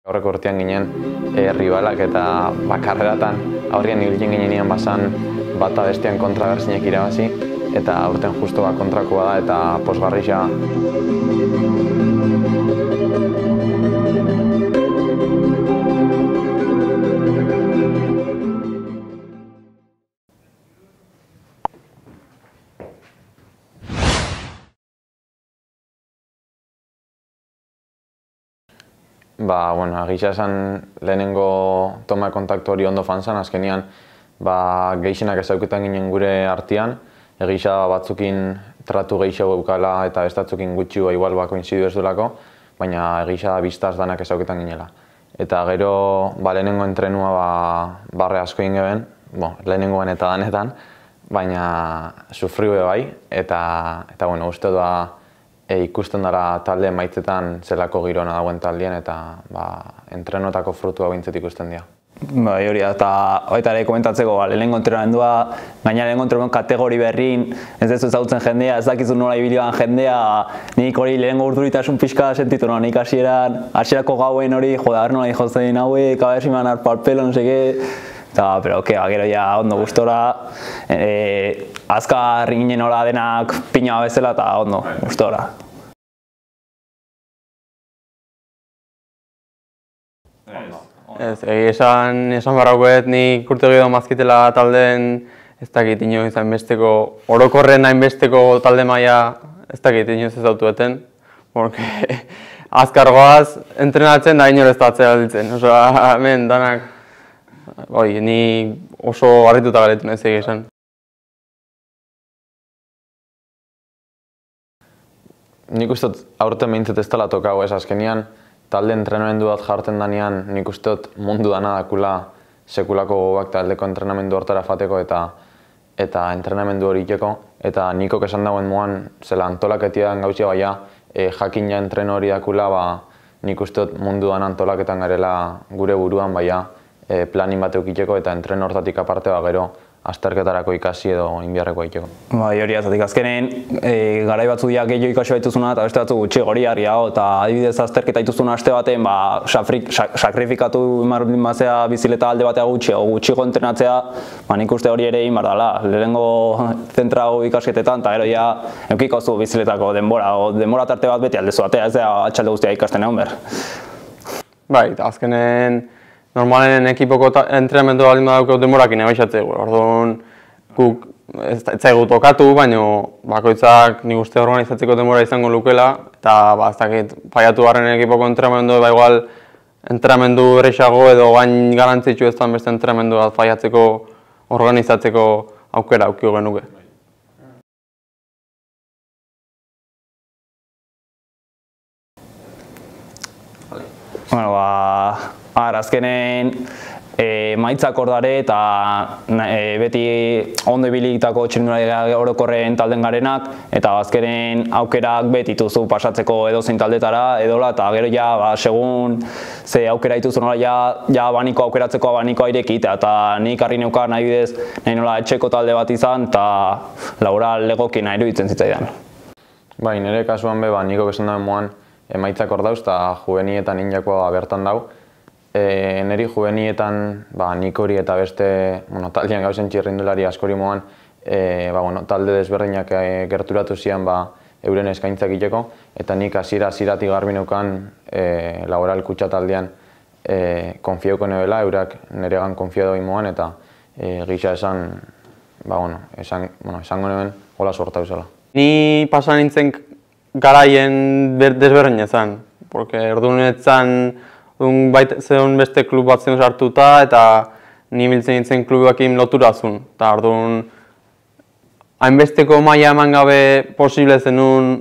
Aurreko urtean ginen ribalak eta karreratan aurrean ibiltzen ginenean basan bata bestean kontra berzinek irabazi eta aurten justo kontrakoa da eta pozgarria. Gisa esan lehenengo toma kontaktu hori ondo fanzan, azkenian gehixenak ezauketan ginen gure artean, egisa batzukin tratu gehiago eukala eta bestatzukin gutxi igual koinzidu ez duelako, baina egisa biztaz danak ezauketan ginela. Eta gero lehenengo entrenua barre asko ingeben, lehenengoen eta danetan, baina sufriu bai, eta uste ikusten dara talde maitzetan zelako girona dagoen taldean eta entrenotako frutua bintzet ikusten dira. Hori da, eta baita ere komentatzeko, lehenengo entrenamendua, gaina lehenengo entrenamendu kategori berrin, ez dezu ezagutzen jendea, ez dakizu nola ibilioan jendea, nik hori lehenengo urduritasun pixka sentitu nola, nik hasierako gauen hori, joder, nola jozten hauek, abersiman arpalpelo, no seke, pero gero ja ondo gustora, azkar ginen hola denak pina bezala eta ondo gustora. Esan barrauet nik urte gehiago mazkitela taldeen ez dakit inoiz hainbesteko, orokorren hainbesteko talde maila ez dakit inoiz ez dautueten. Azkar goaz entrenatzen da inor ez da atzera ditzen. Hemen danak, ni oso harrituta galetu nahi zegi esan. Nik uste aurten behintzet ez dela tokago ez azkenian, talde entrenamendu bat jartzen danean nik uste mundu dana dakula sekulako gobak taldeko entrenamendu hortara fateko eta entrenamendu hori iteko. Eta nikok esan dagoen moan, zela antolaketian gauzia baina jakina entreno hori dakula, nik uste mundu dana antolaketan garela gure buruan baina planin bat eukiteko eta entreno hortatik aparte gero azterketarako ikasi edo inbiarreko egiteko. Hori azatik azkenen, garai batzu diak gehiago ikasi baituzuna eta beste batzu gutxi gori harriago eta adibidez azterketa dituzuna aste baten sakrifikatu imarbin bazea bizileta alde batea gutxiko entrenatzea, nik uste hori ere inbar dela. Lehenengo zentrago ikasketetan eta gero ja eukiko zu biziletako denbora tarte bat beti aldezu batea, ez da atxalde guztia ikasten egon behar. Bai, azkenen normalen ekipoko entrenamendu baldin badaukeu denborakin ebaixatzeko. Orduan, guk ez zaigu tokatu, baina bakoitzak nik uste organizatzeko denbora izango lukela eta ez dakit faiatu garren ekipoko entrenamendu igual entrenamendu errexago edo gain garantzitsu ez beste entrenamendu bat faiatzeko organizatzeko aukera aukio genuke. Azkenen maitzak hor dare eta beti ondo ibilitako txirrindulari orokorren talden garenak eta azkenen aukerak beti dituzu pasatzeko edozein taldetara edola eta gero ja segun ze aukera dituzu nola ja abaniko aukeratzeko abanikoa irekitea eta nik harri neukan nahi bidez nahi nola etxeko talde bat izan eta laboral legokien iruditzen zitzaidan. Nire kasuan niko esan duen moan emaitzak hor dauz eta juvenietan injakoa bertan dau. Neri juvenietan nik hori eta beste taldean gauzen txirrindulari askori moan talde desberdinak gerturatu zian euren eskaintzak iteko eta nik hasieratik garbi neukan laboral kutxa taldean konfiauko nebela, eurak neregan konfiado moan eta gisa esango neben hola sorta eusela. Ni pasan nintzen garaien desberdin ezan, porque erdunetzen zeon beste klub bat zen sartuta eta ni biltzen nintzen klubakin loturazun. Eta orduan, hainbesteko maila eman gabe posible zenun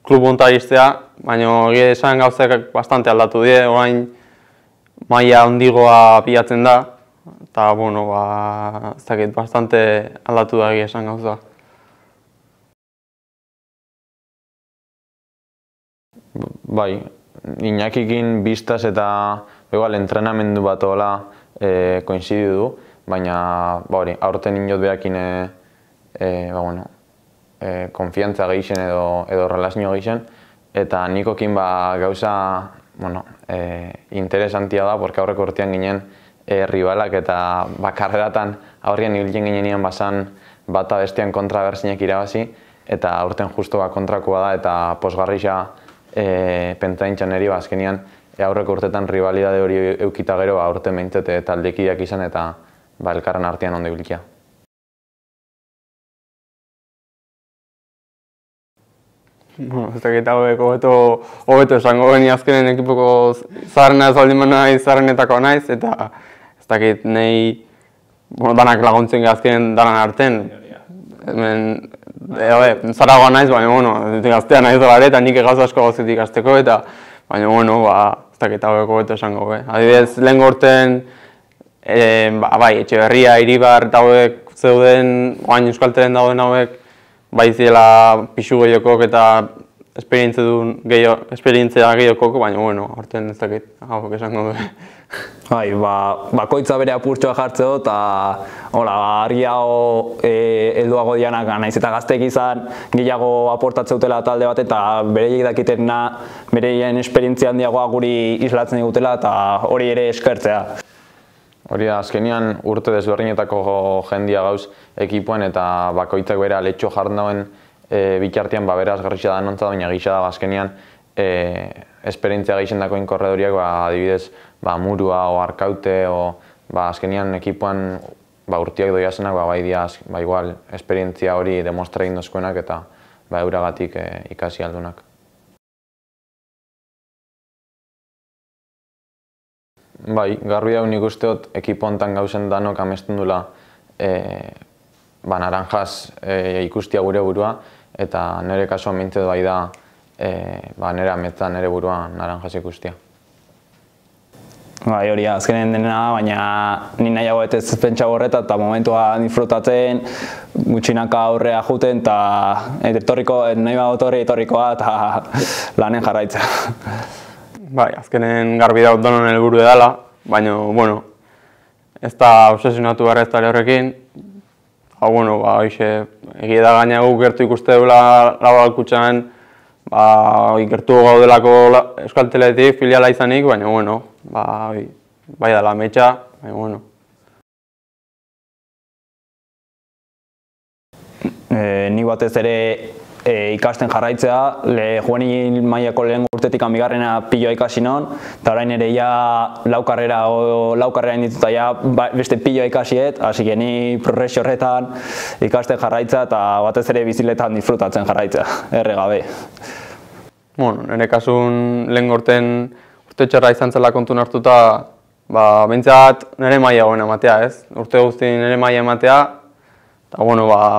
klub hontara iztea, baina egia esan gauzak bastante aldatu die, orain maila handigoa pilatzen da, eta ez dakit bastante aldatu da egia esan gauza. Iñakikin biztaz eta entrenamendu bat hola koinzidu du, baina aurten inot behakin konfiantza gehixen edo relazio gehixen eta nikokin gauza interesantia da, porque aurreko urtean ginen ribalak eta karreratan aurrian ibiltzen ginenean bazan bata bestean kontra berzinek irabazi, eta aurten justu kontrakoa da eta posgarrisa pentsaintzan eri azkenean aurreko urtetan rivalidade hori eukita gero aurten behintzete taldekideak izan eta elkarren artean ondo ibiltzea. Ez dakit hauek hobeto esango geni azkenen ekipoko zaharrena ez baldin naiz, zaharrenetako naiz, eta ez dakit nahi danak laguntzen azkenen danan arten. Hemen zaragoa naiz, baina gaztea naiz dolare eta nik egaz asko gauzetik ikasteko, eta baina ez dakit hauek hobeto esango. Adibidez, lehen gorten Etxeberria, Iribar eta hauek zeuden, oain Euskaltelen dauden hauek, bai zirela pixu gehiokok eta esperientzia gehiokok, baina aurten ez dakit hauek esango du. Bakoitza bere apurtxoa jartzeo eta argiago helduago dianak naiz eta gazteek izan gehiago aportatzeutela talde bat eta bereiek dakitena bereien esperientzia handiagoa guri islatzen digutela eta hori ere eskertzea. Hori da, azkenean urte desberdinetako jendia gauz ekipoen eta bakoitzak bera letxo jartzen dauen bitartean beraz garritxa da nontza, baina gisa da azkenean esperientzia gehixen dakoen korredoriak adibidez Murua o Arkaute o azkenean ekipoan urtiak doiazenak bai diaz igual esperientzia hori demostra egin dozkoenak eta euragatik ikasi aldunak. Garbi hau nik usteot ekipo hontan gauzen danok amesten dula naranjaz ikustia gure burua eta nire kasuan mintzet bai da nire ametzan nire burua naranjaz ikustia. Hori azkenen dena, baina ni nahiago ez pentsa horreta eta momentua disfrutatzen, gutxinaka aurrea juten eta nahi etorrikoa eta lanen jarraitzea. Azkenen garbi daut donon helburu edala, baina, ez da obsesionatu gara ez da horrekin. Egia da gaina guk gertu ikuste dula Labalkutxan, gertu gaudelako Euskalteletik filiala izanik, baina, bai dela ametsa, baina, Ni batez ere ikasten jarraitzea, juvenil mailako lehen urtetik bigarrena piloa ikasi non, eta orain ere lau karrera indituta beste piloa ikasiet, hasi ni progresio horretan ikasten jarraitza eta batez ere biziletan disfrutatzen jarraitzea, erre gabe. Nire kasun lehen urten urte txarra izan zela kontun hartuta, behintzat nire maila goen ematea, ez? Urte guzti nire maila ematea, eta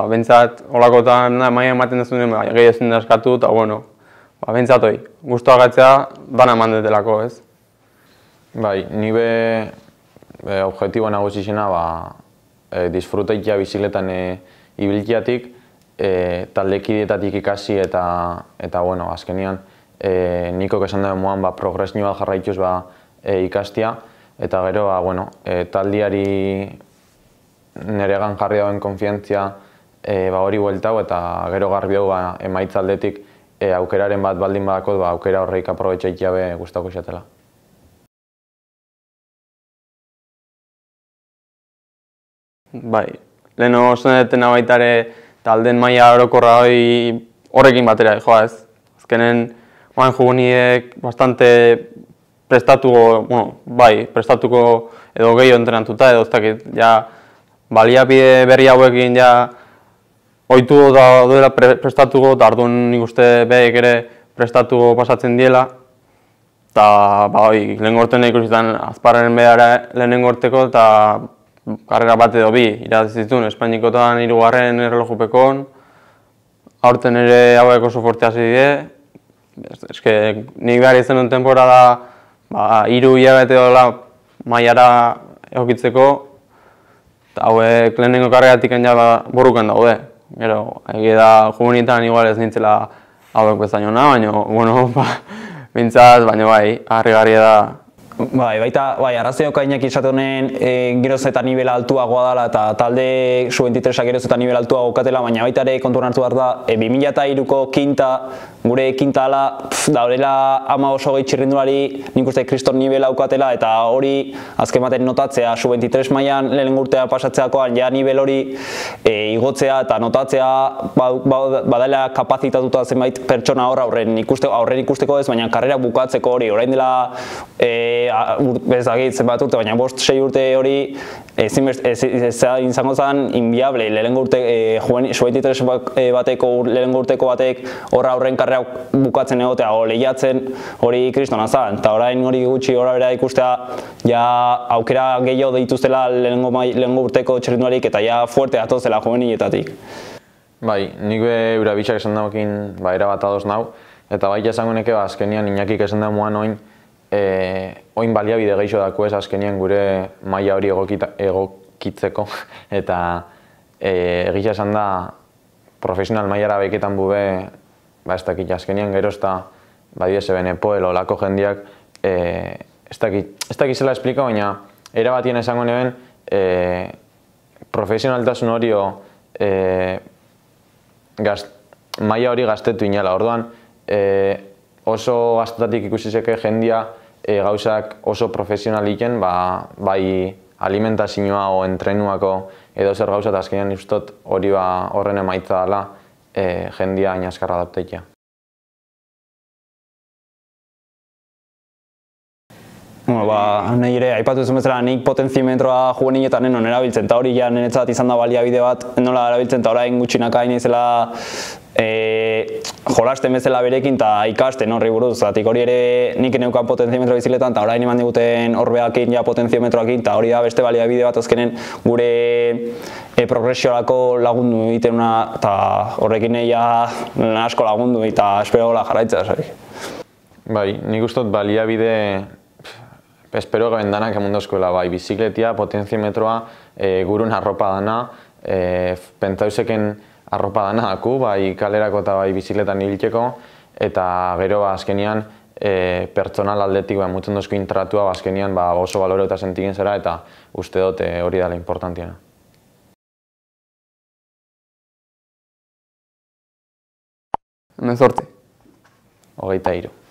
behintzat holakotan maila ematen dezun gehi ezin daskatu, eta behintzat hoi, guztua gatzea dana eman detelako, ez? Nire objektibo nagusizena disfrutaikia biziletan ibilkiatik, taldekideetatik ikasi eta azkenean nikok esan dabe moan progresio bat jarraituz ikastia eta gero taldiari niregan jarri dauen konfiantzia hori bueltau eta gero garbi hau emaitza aldetik aukeraren bat baldin badako aukera horreik aprobetxaikia be gustako xatela. Leheno osan detena baitare taldeen maila orokorra horrekin batera joa ez. Azkenen, juguniek bastante prestatuko edo gehiago entrenatuta edo ez dakit, baliabide berri hauekin ohitu duela prestatuko eta orduan nik uste behek ere prestatuko pasatzen diela. Eta lehen gorten ikusitan Azparren behara lehen gorteko eta karrera bat edo bi irabazi Espainikotan 3. erlojupekon, aurten ere hauek oso forte hasi die. Nik behar izan duen temporada 3 hilabete dola mailara egokitzeko, eta hauek lehenengo karreratik borrukan daude. Gero, egia da juvenietan igual ez nintzela hauek bezainona, baina, bintzaz, baina harrigarria da Baita, arrazoioka Iñaki esate honen geroz eta nivela altuagoa dela eta talde sub-23a geroz eta nivela altuago katela, baina baita ere kontuan hartu behar da 2003ko kinta, gure kinta ala, da horrela 15 txirrindulari nik uste kriston nivela aukatela eta hori azken baten notatzea sub-23 mailan lehen urtea pasatzeakoan ja nivel hori igotzea eta notatzea badela kapazitatuta zenbait pertsona aurren ikusteko ez, baina karrera bukatzeko hori, orain dela bezagit zenbat urte, baina 5-6 urte hori izango zen inviable, lehenengo urte sub-23 bateko lehenengo urteko batek horra aurren karrera bukatzen egotea o lehiatzen hori kristona zen, eta orain hori gutxi horra bera ikustea ja aukera gehiago dituztela lehenengo urteko txirrindularik eta ja fuerte atozela juveniletatik. Bai, nik eura bitxak esan daukin erabat adoz nau, eta bai esango neke azkenian Iñakik esan damuan oin baliabide gehiago dako ez azkenian gure maila hori egokitzeko eta egia esan da profesional mailara beketan bube ez dakit azkenian gero ez da badiese benepoel olako jendiak ez dakit zela esplika, baina erabatien esango neben profesionaltasun hori maila hori gaztetu inala, orduan oso gaztetatik ikusizeke jendia gauzak oso profesionaliken, bai alimentazioa o entrenuako edo zer gauza eta azkenean ustot hori horren emaitza dela jendia inazkarra adapteikia. Nahi ere, aipatu duzu bezala, nik potenziometroa juveniletan non erabiltzen, eta hori ja niretzat izan da baliabide bat, nola erabiltzen, eta orain gutxinaka naizela jolasten bezala berekin eta ikasten horri buruz, zatik hori ere nik neukan potenziometro bizikletan eta orain eman diguten horbeakin ja potenziometroakin eta hori da beste baliabide bat azkenen gure progresiorako lagundu egiten eta horrekin ja asko lagundu eta espero gola jarraitzea. Bai, nik ustot baliabide espero gaben danak emundozkoela, bai, bizikletia, potenziometroa, gurun arropa dana, pentsauzeken arropa dana daku, bai kalerako eta bai bizikletan hiltzeko, eta gero azkenian pertsonal aldetik mutzen dozko intratua azkenian oso balore eta sentigen zera eta uste dut hori dela importantiena. Hemen zorte. 23.